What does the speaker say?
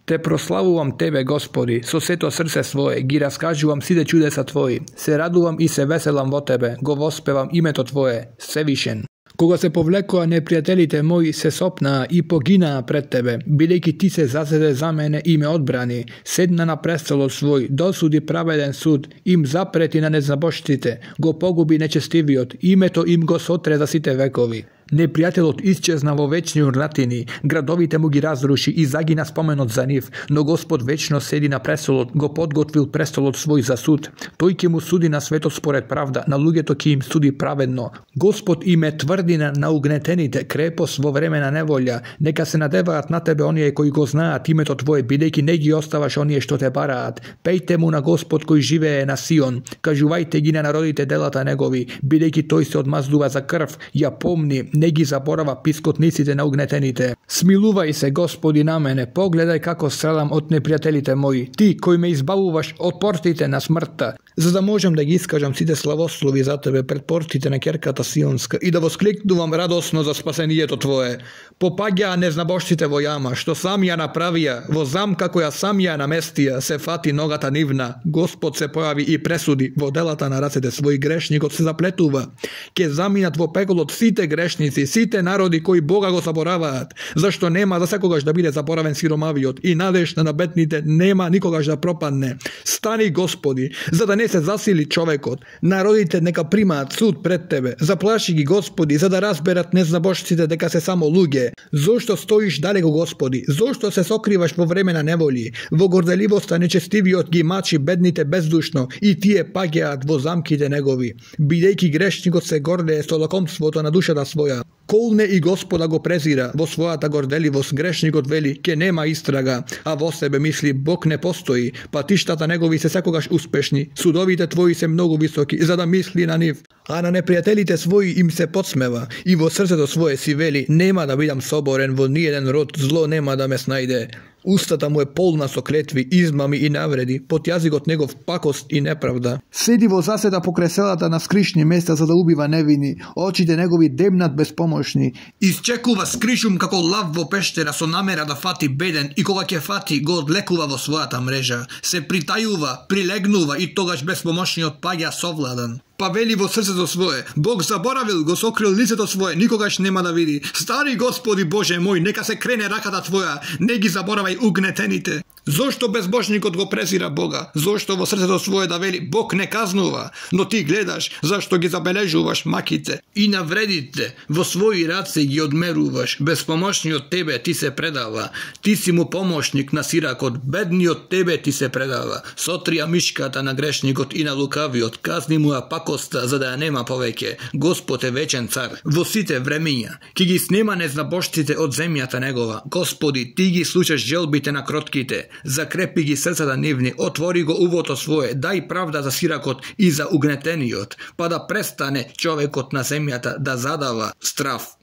Те прославувам Тебе, Господи, со сето срце свое, ги раскажувам сите чудеса Твои, се радувам и се веселам во Тебе, го воспевам името Твое, Севишен. Кога се повлекоа непријателите мои, се сопнаа и погинаа пред Тебе, бидејќи Ти се зазеде за мене и ме одбрани, седна на престолот свој, досуди праведен суд, им запрети на незнабожците, го погуби нечестивиот, името им го сотре за сите векови. Непријателот исчезна во вечни урнатини, градовите му ги разруши и загина споменот за нив, но Господ вечно седи на престолот, го подготвил престолот свој за суд. Тој ќе му суди на светот според правда, на луѓето ќе им суди праведно. Господ им е тврдина на угнетените, крепост во време на неволја. Нека се надеваат на Тебе оние кои го знаат името Твое, бидејќи не ги оставаш оние што те бараат. Пејте му на Господ кој живее на Сион, кажувајте ги на народите делата негови, бидејќи тој се одмаздува за крв, ја помни, не ги заборава пискотниците на угнетените. Смилувај се, Господи, на мене, погледај како страдам од непријателите мои, Ти кој ме избавуваш од портите на смртта, за да можам да ги искажам сите славослови за Тебе пред портите на ќерката Сионска и да воскликнувам радосно за спасението Твое. Попаѓаа незнабожците во јама, што сам ја направија, во замка која сам ја наместија, се фати ногата нивна. Господ се појави и пресуди, во делата на рацете своји грешникот се заплетува. Ке заминат во пеколот сите грешници, сите народи кои Бога го забораваат, зашто нема за секогаш да биде заборавен сиромавиот и надежда на бедните нема никогаш да пропадне. Стани, Господи, за да не се засили човекот. Народите нека примаат суд пред Тебе. Заплаши ги, Господи, за да разберат незнабожците дека се само луѓе. Зошто стоиш далеко, Господи? Зошто се сокриваш во време на неволи? Во горделивоста нечестивиот ги мачи бедните бездушно и тие паѓаат во замките негови. Бидејќи грешникот се гордее со лакомството на душата своја. Колне и Господа го презира, во својата горделивост грешникот вели ке нема истрага, а во себе мисли Бог не постои, патиштата негови се секогаш успешни, судовите Твои се многу високи, за да мисли на нив. А на непријателите своји им се подсмева и во срцето свое си вели нема да бидам соборен, во ниеден род зло нема да ме снајде. Устата му е полна со клетви, измами и навреди, под јазикот негов пакост и неправда. Седи во заседа покрај селата на скришни места за да убива невини, очите негови демнат безпомошни. Исчекува скришум како лав во пештера со намера да фати беден и кога ќе фати го одлекува во својата мрежа. Се притајува, прилегнува и тогаш безпомошниот паѓа совладан. Па вели во срцето свое, Бог заборавил, го сокрил лицето свое, никогаш нема да види. Стари Господи Боже мој, нека се крене раката Твоја, не ги заборавај угнетените. Зошто безбожникот го презира Бога? Зошто во срцето свое да вели Бог не казнува, но ти гледаш зашто ги забележуваш маките и навредите, во своји раце ги одмеруваш, безпомошниот Тебе ти се предава. Ти си му помошник на сиракот, бедниот Тебе ти се предава. Сотрија мишката на грешникот и на лукавиот, казни му ја пакоста за да ја нема повеќе. Господ е вечен цар во сите времиња. Ки ги снема незнабожците од земјата негова. Господи, Ти ги слушаш желбите на кротките. Закрепи ги срцата нивни, отвори го увото свое, дај правда за сиракот и за угнетениот, па да престане човекот на земјата да задава страф.